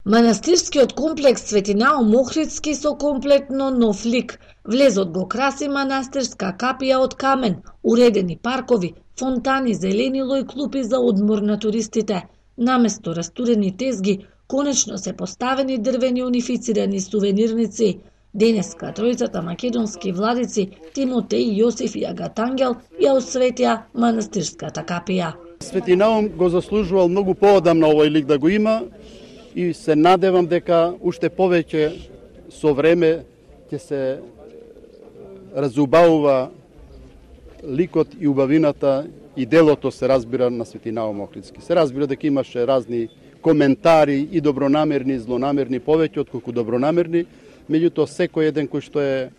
Манастирскиот комплекс Свети Наум Охридски со комплетно нов лик. Влезот го краси манастирска капија од камен, уредени паркови, фонтани, зеленило и клупи за одмор на туристите. Наместо растурени тезги, конечно се поставени дрвени унифицирани сувенирници. Денеска тројцата македонски владици Тимотеј, Јосиф и Агатангел ја осветија манастирската капија. Свети Наум го заслужувал многу поодамна овој лик да го има и се надевам дека уште повеќе со време ќе се разубавува ликот и убавината и делото, се разбира, на Свети Наум Охридски. Се разбира дека имаше разни коментари и добронамерни и злонамерни, повеќе отколку добронамерни, меѓутоа секој еден кој што е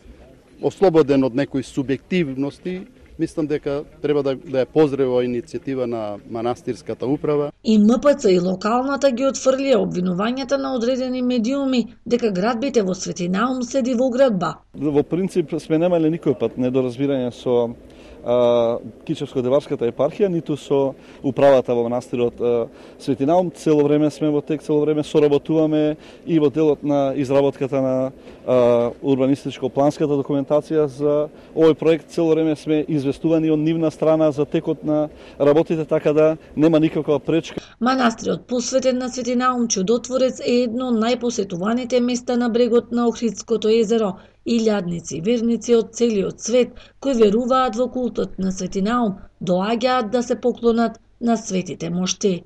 ослободен од некои субјективности, мислам дека треба да ја поздравува иницијатива на манастирската управа. И МПЦ и локалната ги отфрлија обвинувањата на одредени медиуми дека градбите во Свети Наум седи во оградба. Во принцип сме немале никој пат недоразбирање со Кичевско-Деварската епархија, ниту со управата во манастирот Свети Наум. Цело време сме во тек, цело време соработуваме и во делот на изработката на урбанистичко-планската документација за овој проект. Цело време сме известувани од нивна страна за текот на работите, така да нема никаква пречка. Манастирот посветен на Свети Наум Чудотворец е едно од најпосетуваните места на брегот на Охридското езеро. Илјадници верници од целиот свет кои веруваат во култот на Свети Наум доаѓаат да се поклонат на светите мошти.